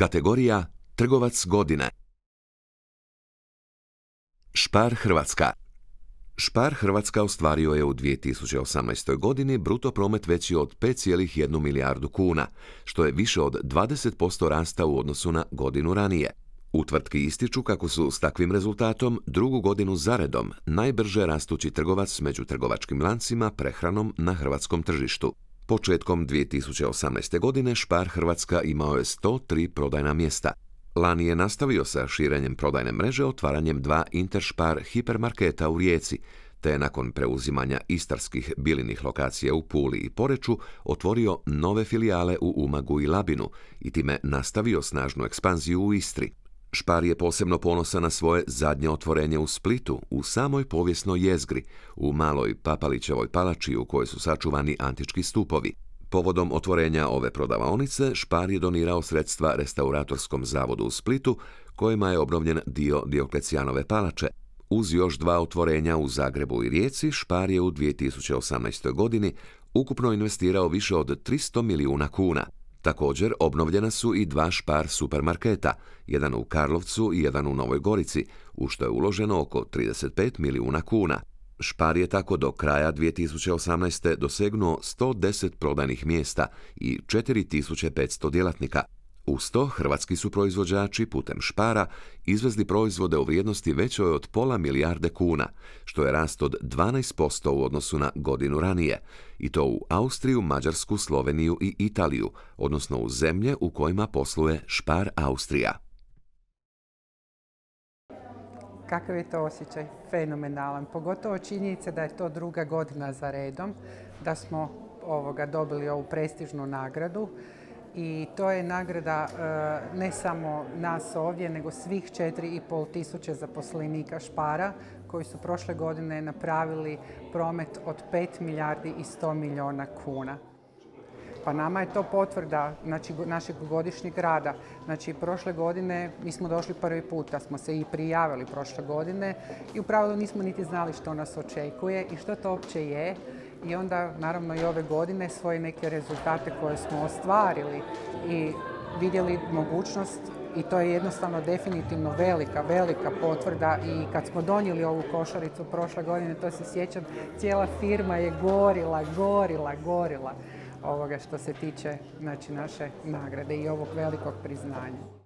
Kategorija Trgovac godine. Spar Hrvatska. Spar Hrvatska ostvario je u 2018. godini bruto promet veći od 5,1 milijardu kuna, što je više od 20% rasta u odnosu na godinu ranije. U tvrtki ističu kako su s takvim rezultatom drugu godinu zaredom najbrže rastući trgovac među trgovačkim lancima prehranom na hrvatskom tržištu. Početkom 2018. godine Spar Hrvatska imao je 103 prodajna mjesta. Lani je nastavio sa širenjem prodajne mreže otvaranjem 2 Interspar hipermarketa u Rijeci, te je nakon preuzimanja istarskih Bilinih lokacija u Puli i Poreču otvorio nove filijale u Umagu i Labinu i time nastavio snažnu ekspanziju u Istri. Spar je posebno ponosan na svoje zadnje otvorenje u Splitu, u samoj povijesnoj jezgri, u maloj Papalićevoj palači u kojoj su sačuvani antički stupovi. Povodom otvorenja ove prodavaonice, Spar je donirao sredstva Restauratorskom zavodu u Splitu, kojima je obnovljen dio Dioklecijanove palače. Uz još 2 otvorenja u Zagrebu i Rijeci, Spar je u 2018. godini ukupno investirao više od 300 milijuna kuna. Također, obnovljena su i 2 Spar supermarketa, jedan u Karlovcu i jedan u Novoj Gorici, u što je uloženo oko 35 milijuna kuna. Spar je tako do kraja 2018. dosegnuo 110 prodajnih mjesta i 4500 djelatnika. Uz to, hrvatski su proizvođači putem Spara izvezli proizvode u vrijednosti većoj od pola milijarde kuna, što je rast od 12% u odnosu na godinu ranije, i to u Austriju, Mađarsku, Sloveniju i Italiju, odnosno u zemlje u kojima posluje Spar Austrija. Kakav je to osjećaj? Fenomenalan. Pogotovo činjenica da je to druga godina za redom, da smo dobili ovu prestižnu nagradu. I to je nagrada ne samo nas ovdje, nego svih 4.500 zaposlenika Spara koji su prošle godine napravili promet od 5 milijardi i 100 milijuna kuna. Pa nama je to potvrda našeg godišnjeg rada. Prošle godine mi smo došli prvi puta, smo se i prijavili prošle godine i u pravilu nismo niti znali što nas očekuje i što to uopće je. I onda, naravno, i ove godine svoje neke rezultate koje smo ostvarili i vidjeli mogućnost, i to je jednostavno definitivno velika potvrda. I kad smo donijeli ovu košaricu prošle godine, to se sjećam, cijela firma je gorila što se tiče naše nagrade i ovog velikog priznanja.